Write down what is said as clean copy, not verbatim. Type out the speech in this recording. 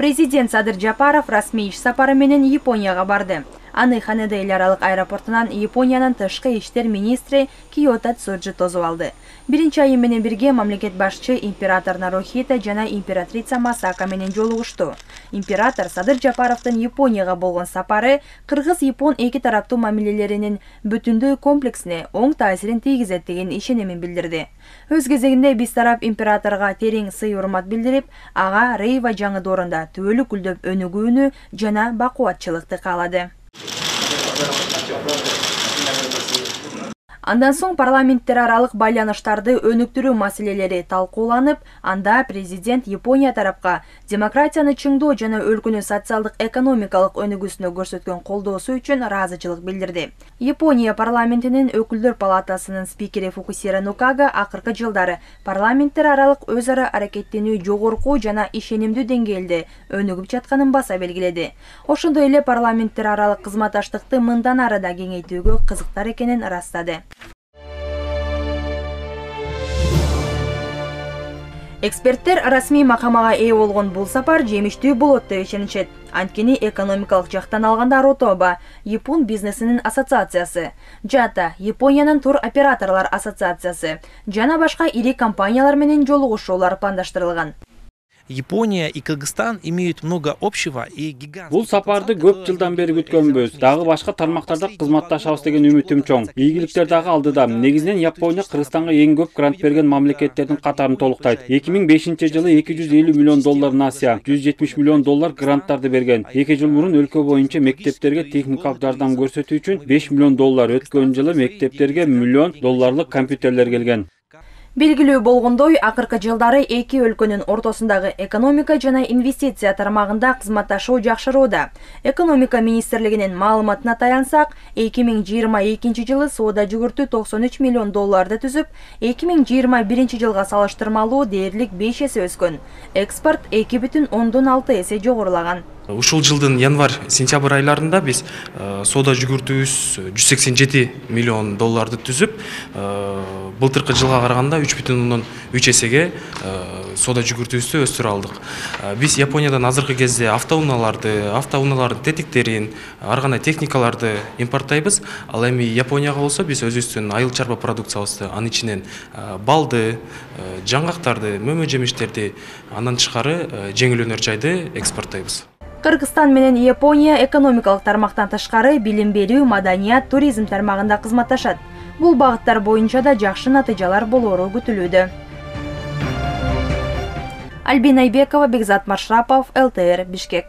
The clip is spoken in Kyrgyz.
Президент Садыр Жапаров расмий иш сапары менен Японияга барды. Аны Ханеда эл аралык аэропортунан Япониянын тышкы иштер министри Киото Цуджи тосуп алды. Биринчи айым менен бирге мамлекет башчы император Нарухито жана императрица Масака менен жолугушту. Император Садыр Жапаровдун Японияга болгон сапары кыргыз-япон эки тараптуу мамилелеринин бүтүндөй комплексине оң таасирин тийгизет деген ишенимин билдирди. Өз кезегинде биз тарап императорго терең сый-урмат билдирип, ага Рейва жаңы доорунда түбөлүк гүлдөп өнүгүүнү жана бакубатчылыкты каалады. Андан соң парламенттер аралык байланыштарды өнүктүрүү маселелери талкууланып, анда президент Япония тарапка демократияны чыңдоо жана өлкөнүн социалдык-экономикалык өнүгүүсүнө көрсөткөн колдоосу үчүн ыраазычылык билдирди. Япония парламентинин өкүлдөр палатасынын спикери Фукусира Нукага акыркы жылдары парламенттер аралык өз ара аракеттенүү жогорку жана ишенимдүү деңгээлде өнүгүп жатканын баса белгиледи. Ошондой эле парламенттер аралык кызматташтыкты мындан ары да кеңейтүүгө кызыктар экенин ырастады. Эксперттер расмий макамага ээ болгон бул сапар жемиштүү болот деп ишенишет. Анткени экономикалык жактан алганда Ротоба, Япон бизнесинин ассоциациясы, Жата, Япониянын тур операторлор ассоциациясы жана башка ири компаниялар менен жолугушуулар пландаштырылган. Япония и Кыргызстан имеют много общего и гигантских. Бул сапарды көп жылдан бери күткөнбүз. Дагы башка тармактарда кызматташабыз деген үмүтүм чоң. Ийгиликтер дагы алдыда. Негизинен Япония Кыргызстанга эң көп грант берген мамлекеттердин катарын толуктайт. 2005-жылы $250 миллион Асия, $170 миллион гранттарды берген. 2 жыл мурун өлкө боюнча мектептерге техникалык жардам көрсөтүү үчүн $5 миллион, өткөн жылы мектептерге $1 миллион компьютерлер келген. Белгилүү болгондой, акыркы жылдары эки өлкөнүн ортосундагы экономика жана инвестиция тармагында кызматташуу жакшырууда. Экономика министрлигинин маалыматына таянсак, 2022 жылы соода жүгүртүү $93 миллион түзүп, 2021 жылга салыштырмалуу дээрлик 5 эсе өскөн. Экспорт 2,6 эсе жогорулаган. Ушул жылдын январь-сентябрь айларында биз соода жүгүртүүбүз $187 миллион түзүп, былтыркы жылга караганда 3,3 эсеге соода жүгүртүүбүздү өстүрө алдык. Биз Япониядан азыркы кезде автоунаалардын тетиктерин, ар кандай техникаларды импорттойбуз. Ал эми Японияга болсо биз өзүбүздүн айыл чарба продукциябызды, анын ичинен балды, жаңгактарды, мөмө жемиштерди, андан тышкары жеңил өнөр жайды экспорттойбуз. Кыргызстан менен Япония экономикалык тармактан тышкары билим берүү, маданият, туризм тармагында кызматташат. Бул багыттар боюнча да жакшы натыйжалар болору күтүлүүдө. Альбина Айбекова, Бекзат Маршрапов, ЛТР, Бишкек.